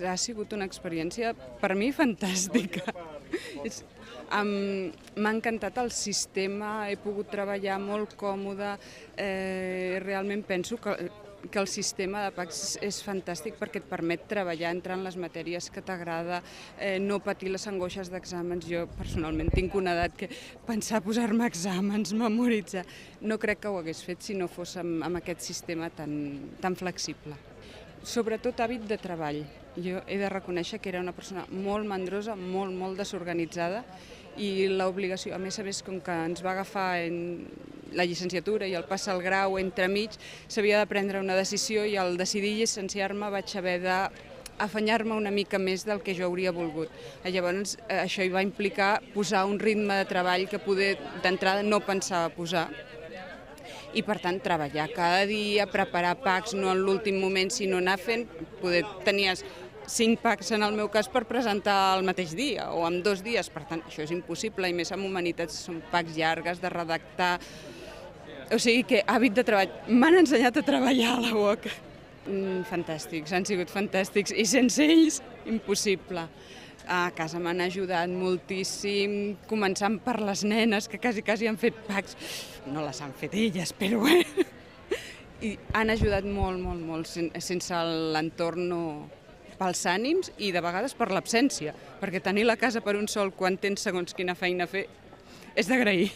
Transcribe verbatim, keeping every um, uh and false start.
ha sigut una experiència, per mi, fantàstica. M'ha encantat el sistema, he pogut treballar molt còmode, realment penso que que el sistema de PACS és fantàstic perquè et permet treballar, entrar en les matèries que t'agrada, no patir les angoixes d'exàmens. Jo personalment tinc una edat que pensar posar-me exàmens, memoritzar, no crec que ho hagués fet si no fos amb aquest sistema tan flexible. Sobretot hàbit de treball. Jo he de reconèixer que era una persona molt mandrosa, molt, molt desorganitzada i l'obligació, a més a més, com que ens va agafar en la llicenciatura i el pas al grau entremig, s'havia de prendre una decisió i al decidir llicenciar-me vaig haver d'afanyar-me una mica més del que jo hauria volgut. Llavors això hi va implicar posar un ritme de treball que poder d'entrada no pensava posar i per tant treballar cada dia, preparar PACS no en l'últim moment sinó anar fent, poder tenies cinc PACS en el meu cas per presentar el mateix dia o en dos dies, per tant això és impossible i més amb humanitats són PACS llargues de redactar. O sigui que hàbit de treball, m'han ensenyat a treballar a la U O C. Fantàstics, han sigut fantàstics i sense ells impossible. A casa m'han ajudat moltíssim, començant per les nenes que quasi quasi han fet PACS, no les han fet elles, però bé. I han ajudat molt, molt, molt, sense l'entorn no pels ànims i de vegades per l'absència, perquè tenir la casa per un sol quan tens segons quina feina a fer és d'agrair.